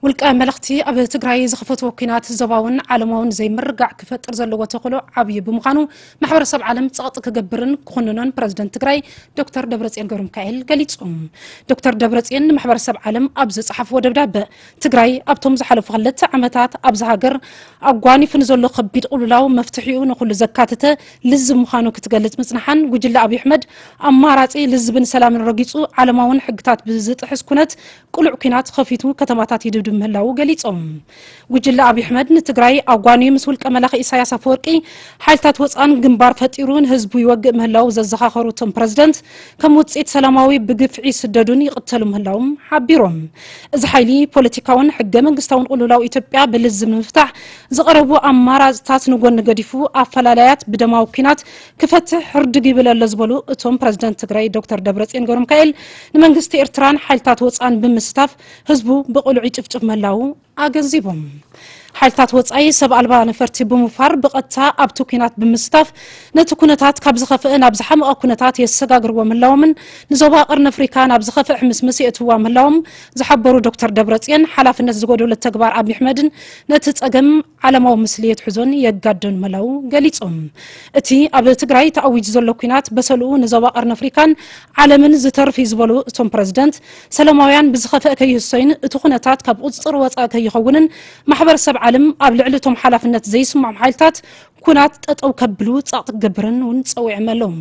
ውልቀ መለኽቲ ኣብ ትግራይ ዝኸፈትዎ ኲናት ዞባውን ዓለማውን ዘይምርግጋዕ ክፈጥር ዘለዎ ተኽእሎ ዓብዪ ብምዃኑ ማሕበረሰብ ዓለም ጸቕጢ ክገብርን ክኹንኖን ፕረዚደንት ትግራይ ዶክተር ደብረጽዮን ገብረሚካኤል ገሊጹ። ዶክተር ደብረጽዮን ንማሕበረሰብ ዓለም ኣብ ዝጸሓፍዎ ደብዳበ ትግራይ ኣብቶም ዝሓለፉ ክልተ ዓመታት ኣብዚ ሃገር ኣጓኒፉ ንዘሎ ከቢድ ቅልውላው መፍትሒኡ ንኹሉ ዘካተተ ልዝብ ምዃኑ ክትገልጽ ምጽንሓን ጉጅለ ኣብይ ኣሕመድ ኣማራጺ ልዝብን ሰላምን ረጊጹ ዓለማውን ሕግታት ብዝጥሕስ ኩነት ቅሉዕ ኲናት ኸፊቱ ከተማታት ይድብድብ ምህላዉ ገሊጾም። ጉጅለ ኣብይ ኣሕመድ ንትግራይ ኣጓንዩ ምስ ውልቀ መላኺ ኢሳያስ ኣፈወርቂ ሓይልታት ወፃን ግንባር ፈጢሩ ንህዝቡ ይወግእ ምህላዉ ዘዘኻኸሩ እቶም ፕረዚደንት ከም ውፅኢት ሰላማዊ ብግፍዒ ይስደዱን ይቕተሉ ምህላዎም ሓቢሮም። እዚ ሓይሊ ፖለቲካውን ሕገ መንግስታውን ቅልውላው ኢትዮጵያ ብልዝብ ንምፍታሕ ዝቐረቡ ኣማራፅታት ንጎኒ ገዲፉ ኣፈላላያት ብደማዊ ኲናት ክፈትሕ ህርድግ ይብል ኣሎ ዝበሉ እቶም ፕረዚደንት ትግራይ ዶክተር ደብረፅዮን ገብረሚካኤል ንመንግስቲ ኤርትራን ሓይልታት ወፃን ብምስታፍ ህዝቡ ብቕሉዕ ይጭፍጭፍ ምህላዉ ኣገንዚቦም። ሓይልታት ወፃኢ ሰብ ኣልባ ነፈርቲ ብምውፋር ብቐጥታ ኣብቲ ኲናት ብምስታፍ ነቲ ኩነታት ካብ ዝኸፍአ ናብ ዝሓመቐ ኩነታት የሰጋግርዎ ምህላዎምን ንዞባ ቀርኒ ኣፍሪካ ናብ ዝኸፍአ ሕምስምስ የእትዋ ምህላዎም ዝሓበሩ ዶክተር ደብረፅዮን ሓላፍነት ዝጎደሎ ተግባር ኣብይ ኣሕመድን ነቲ ፀገም ዓለማዊ ምስሊ የትሕዞን የጋደን ምህላዉ ገሊፆም። እቲ ኣብ ትግራይ ተኣዊጁ ዘሎ ኲናት በሰልኡ ንዞባ ቀርኒ ኣፍሪካን ዓለምን ዝተርፍ እዩ ዝበሉ እቶም ፕረዚደንት ሰላማውያን ብዝኸፍአ ከይህሰዩን እቲ ኩነታት ካብ ቁፅፅር ወፃኢ ከይኸውንን ማሕበረሰብ ዓለም ኣብ ልዕሊ እቶም ሓላፍነት ዘይስምዖም ሓይልታት ኩናት ጠጠው ከብሉ ጸቕጢ ክገብርን እውን ጸዊዖም ኣለዉ።